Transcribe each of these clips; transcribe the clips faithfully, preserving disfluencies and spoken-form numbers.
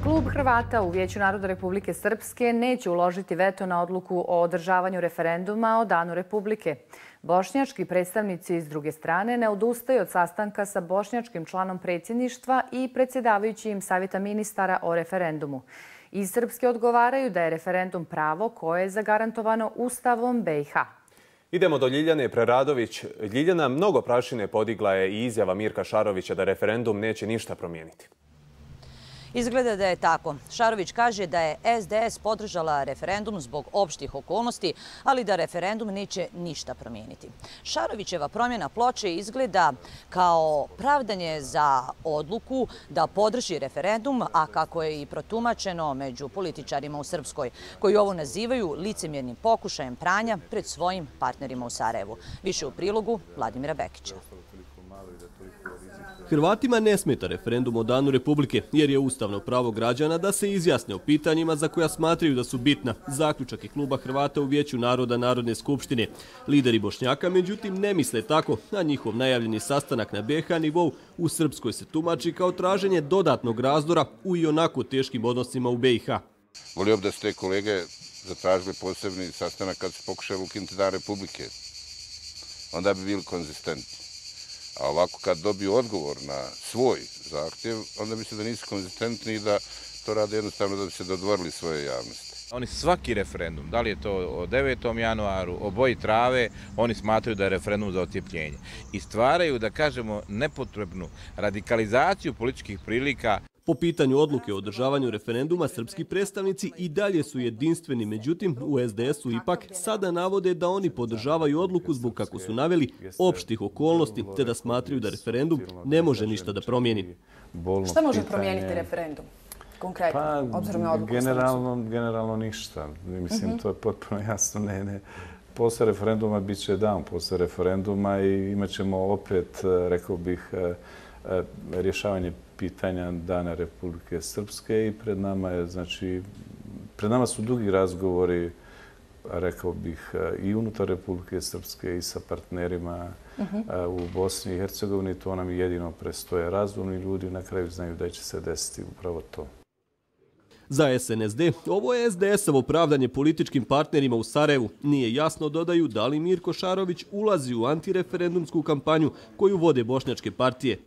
Klub Hrvata u Vijeću naroda Republike Srpske neće uložiti veto na odluku o održavanju referenduma o Danu Republike. Bošnjački predstavnici s druge strane ne odustaju od sastanka sa bošnjačkim članom predsjedništva i predsjedavajućim Savjeta ministara o referendumu. Iz Srpske odgovaraju da je referendum pravo koje je zagarantovano Ustavom be i ha. Idemo do Ljiljane Preradović. Ljiljana, mnogo prašine podigla je i izjava Mirka Šarovića da referendum neće ništa promijeniti. Izgleda da je tako. Šarović kaže da je es de es podržala referendum zbog opštih okolnosti, ali da referendum neće ništa promijeniti. Šarovićeva promjena ploče izgleda kao pravdanje za odluku da podrži referendum, a kako je i protumačeno među političarima u Srpskoj, koji ovo nazivaju licemjernim pokušajem pranja pred svojim partnerima u Sarajevu. Više u prilogu Vladimira Bekića. Hrvatima ne smeta referendum o Danu Republike, jer je ustavno pravo građana da se izjasne o pitanjima za koja smatraju da su bitna. Zaključak je Kluba Hrvata u Vijeću naroda Narodne skupštine. Lideri Bošnjaka, međutim, ne misle tako, a njihov najavljeni sastanak na be ha nivou u Srpskoj se tumači kao traženje dodatnog razdora u i onako teškim odnosima u be i ha. Volio bi da ste kolege zatražili posebni sastanak kad su pokušali ukinuti Dan Republike. Onda bi bili konzistentni. A ovako kad dobiju odgovor na svoj zahtjev, onda misle da nisu konzistentni i da to rade jednostavno da bi se dodvorili svoje javnosti. Oni svaki referendum, da li je to o devetom januaru, o boji trave, oni smatraju da je referendum za ocijepljenje. I stvaraju, da kažemo, nepotrebnu radikalizaciju političkih prilika. Po pitanju odluke o održavanju referenduma, srpski predstavnici i dalje su jedinstveni, međutim u es de esu ipak sada navode da oni podržavaju odluku zbog, kako su naveli, opštih okolnosti, te da smatraju da referendum ne može ništa da promijeni. Šta može promijeniti referendum? Konkretno, pa, obzirom na odluku? Generalno, generalno ništa. Mislim, mm-hmm. to je potpuno jasno. Ne, ne. Posle referenduma bit će dan posle referenduma i imat ćemo opet, rekao bih, rješavanje pitanja Dana Republike Srpske i pred nama je, znači, pred nama su dugi razgovori, rekao bih, i unutar Republike Srpske i sa partnerima uh-huh. u Bosni i Hercegovini. To nam jedino prestoje. Razumni ljudi na kraju znaju da će se desiti upravo to. Za es en es de ovo je es de esovo pravdanje političkim partnerima u Sarajevu. Nije jasno, dodaju, da li Mirko Šarović ulazi u antireferendumsku kampanju koju vode bošnjačke partije.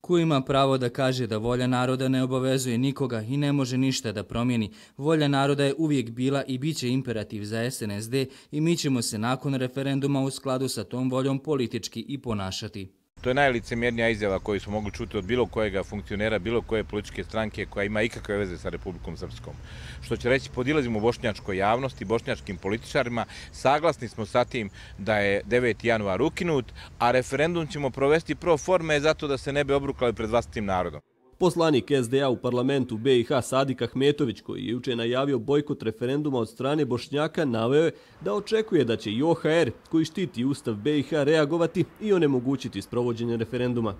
Ko ima pravo da kaže da volja naroda ne obavezuje nikoga i ne može ništa da promijeni. Volja naroda je uvijek bila i bit će imperativ za es en es de i mi ćemo se nakon referenduma u skladu sa tom voljom politički i ponašati. To je najlicemjernija izjava koju smo mogli čuti od bilo kojega funkcionera, bilo koje političke stranke koja ima ikakve veze sa Republikom Srpskom. Što će reći, podilazimo bošnjačkoj javnosti, bošnjačkim političarima, saglasni smo sa tim da je deveti januar ukinut, a referendum ćemo provesti pro forme zato da se ne bi obrukali pred vlastitim narodom. Poslanik es de a u parlamentu be i ha Sadik Ahmetović, koji je juče najavio bojkot referenduma od strane Bošnjaka, naveo je da očekuje da će i o ha er, koji štiti Ustav be i ha, reagovati i onemogućiti sprovođenje referenduma.